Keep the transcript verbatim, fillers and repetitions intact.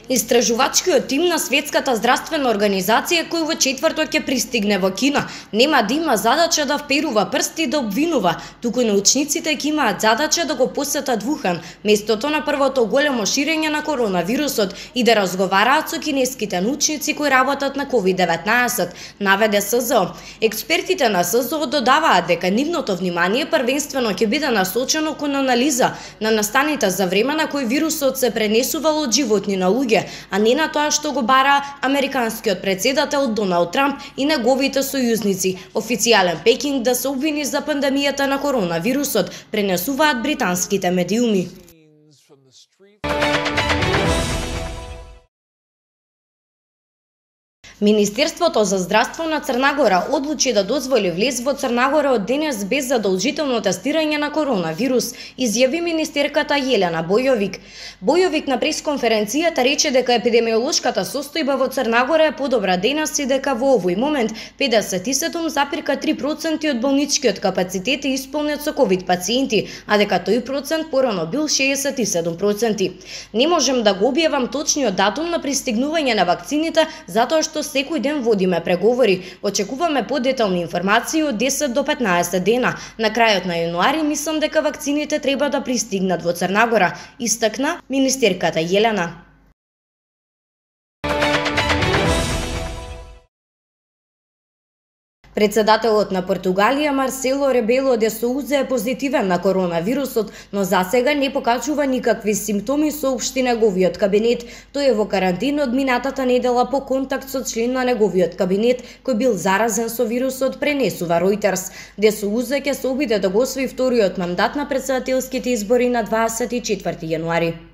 Истражувачкиот тим на Светската здравствена организација, кој во четврток ќе пристигне во Кина, нема да има задача да вперува прсти да обвинува, туку научниците ќе имаат задача да го посетат Вухан, местото на првото големо ширење на коронавирусот, и да разговараат со кинеските научници кои работат на ковид деветнаесет, наведе С З О. Експертите на С З О додаваат дека нивното внимание првенствено ќе биде насочено кон анализа на настаните за време на кој вирусот се пренесувал од животни на луѓе, а не на тоа што го бара американскиот председател Доналд Трамп и неговите сојузници. Официјален Пекинг да се обвини за пандемијата на коронавирусот, пренесуваат британските медиуми. Министерството за здравство на Црна Гора одлучи да дозволи влез во Црна Гора од денес без задолжително тестирање на коронавирус, изјави министерката Јелена Бојовик. Бојовик на пресконференцијата рече дека епидемиолошката состојба во Црна Гора е подобра денес и дека во овој момент педесет и седум зарез три проценти од болничкиот капацитет е исполнет со ковид пациенти, а дека тој процент порано бил шеесет и седум проценти. Не можем да го објавам точниот датум на пристигнување на вакцините затоа што секој ден водиме преговори. Очекуваме подетални информации од десет до петнаесет дена. На крајот на јануари мислам дека вакцините треба да пристигнат во Црна Гора, истакна министерката Јелена. Председателот на Португалија Марсело Ребело де Соуза е позитивен на коронавирусот, но засега не покажува никакви симптоми, соопшти неговиот кабинет. Тој е во карантина од минатата недела по контакт со член на неговиот кабинет кој бил заразен со вирусот, пренесува Ројтерс. Де Соуза ќе се обиде да го освои вториот мандат на претседателските избори на дваесет и четврти јануари.